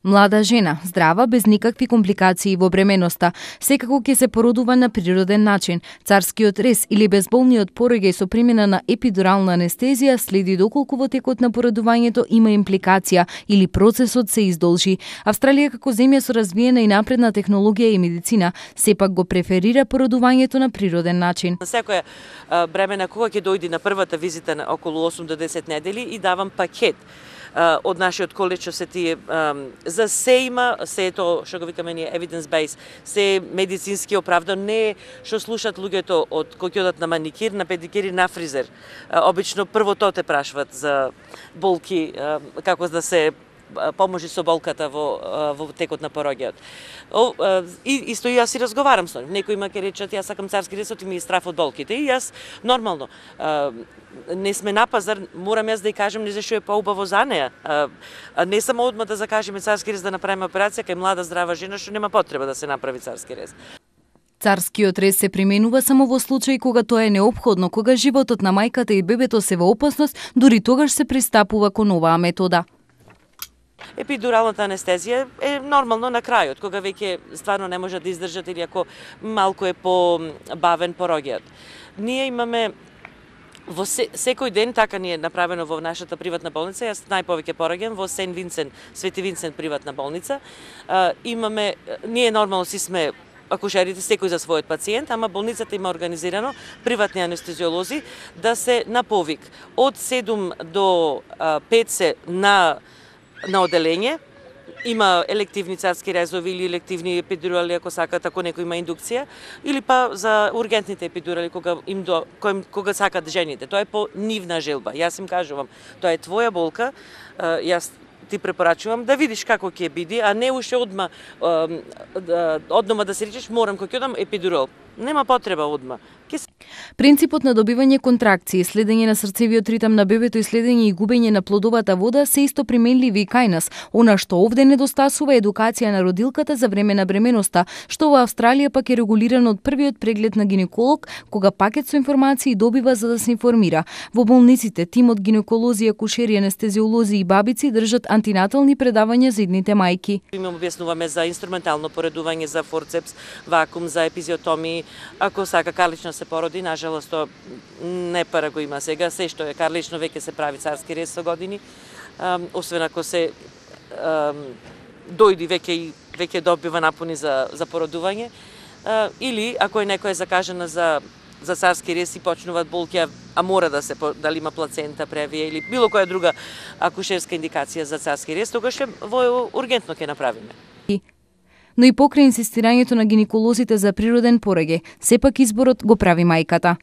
Млада жена, здрава, без никакви компликации во бременоста, секако ќе се породува на природен начин. Царскиот рез или безболниот пороѓај со примена на епидурална анестезија следи доколку во текот на породувањето има импликација или процесот се издолжи. Австралија како земја со развиена и напредна технологија и медицина сепак го преферира породувањето на природен начин. Секоја бремена кога ќе дојде на првата визита на околу 8 до 10 недели и давам пакет од нашиот коледж, се тие за се има, се тоа што го викаме ние evidence base, се медицински оправдано, не што слушат луѓето од кои ќе одат на маникир, на педикир и на фризер. Обично прво тоа те прашуваат за болки, како да се поможи со болката во текот на пороѓајот. И исто и јас си разговарам со нив. Некои ма ќе речат јас сакам царски рез, ти ми страф од болките. И јас нормално не сме на пазар, морам јас да ја кажам не зашто е поубаво за неа. Не само одма да закажеме царски рез да направиме операција кај млада здрава жена што нема потреба да се направи царски рез. Царскиот рез се применува само во случај кога тоа е неопходно, кога животот на мајката и бебето се во опасност, дури тогаш се пристапува кон оваа метода. Епидуралната анестезија е нормално на крајот, кога веќе стварно не може да издржат или ако малку е по-бавен пороѓајот. Ние имаме во секој ден, така ни е направено во нашата приватна болница, јас најповеќе пораѓам во Сен Винсент, Свети Винсент приватна болница. Ние нормално си сме акушерите секој за својот пациент, ама болницата има организирано приватни анестезиолози да се на повик од 7 до 5 се на оделење. Има елективни царски резови или елективни епидурали ако сакат, ако некој има индукција, или па за ургентните епидурали кога сакат жените. Тоа е по нивна желба. Јас им кажувам, тоа е твоја болка, јас ти препорачувам да видиш како ќе биде, а не уште одма да се речеш морам кога ќе одам епидурал. Нема потреба одма. Принципот на добивање контракции, следење на срцевиот ритам на бебето и следење и губење на плодовата вода се исто применливи и кај нас. Она што овде недостасува е едукација на родилката за време на бременоста, што во Австралија пак е регулирано од првиот преглед на гинеколог, кога пакет со информации добива за да се информира. Во болниците тимот гинеколози, акушери, анестезиолози и бабици држат антинатални предавања за идните мајки. Им објаснуваме за инструментално поредување, за форцепс, вакуум, за епизиотомии, ако сака карлично се породи, нажалост тоа не пара го има сега, се што е карлично веќе се прави царски рез со години, освен ако се дојди веќе добива напуни за породување, или ако е некоја закажана за царски рез и почнуваат болки, а мора да се дали има плацента превија или било која друга акушерска индикација за царски рез, тогаш во ургентно ќе направиме. Но и покрај инсистирањето на гинеколозите за природен пороѓај, сепак изборот го прави мајката.